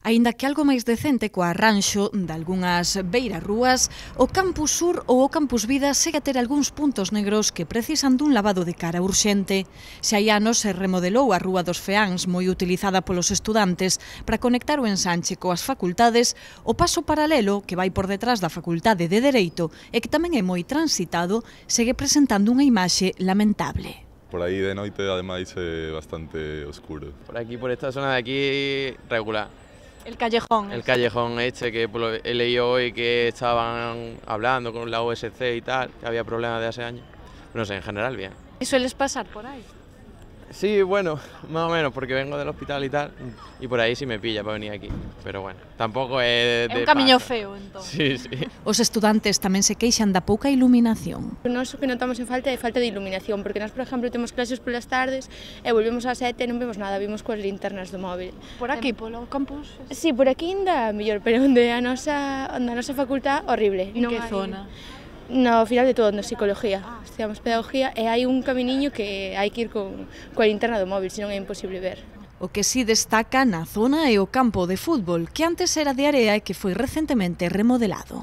Aínda que algo máis decente co arranxo dalgunhas beirarrúas, o Campus Sur ou o Campus Vida segue a ter algúns puntos negros que precisan dun lavado de cara urxente. Xa hai anos se remodelou a Rúa dos Feáns, moi utilizada polos estudantes, para conectar o ensanche coas facultades, o paso paralelo, que vai por detrás da Facultade de Dereito e que tamén é moi transitado, segue presentando unha imaxe lamentable. Por aí de noite, ademais, é bastante oscuro. Por aquí, por esta zona de aquí, regular. El callejón. El callejón este, que he leído hoy que estaban hablando con la OSC y tal, que había problemas de hace años. No sé, en general bien. ¿Y sueles pasar por ahí? Sí, bueno, más o menos, porque vengo del hospital y tal, y por ahí sí me pilla para venir aquí. Pero bueno, tampoco é un camiño feo, entón. Sí, sí. Os estudantes tamén se queixan da pouca iluminación. Nós o que notamos en falta é falta de iluminación, porque nós, por exemplo, temos clases polas tardes e volvemos ás 7 e non vemos nada, vimos coas linternas do móvil. Por aquí, polo campus? Sí, por aquí ainda mellor, pero onde a nosa facultad, horrible. En que zona? No final de todo, na psicología. Estudiamos pedagogía e hai un camiñiño que hai que ir coa linterna do móvil, senón é imposible ver. O que sí destaca na zona é o campo de fútbol, que antes era de area e que foi recentemente remodelado.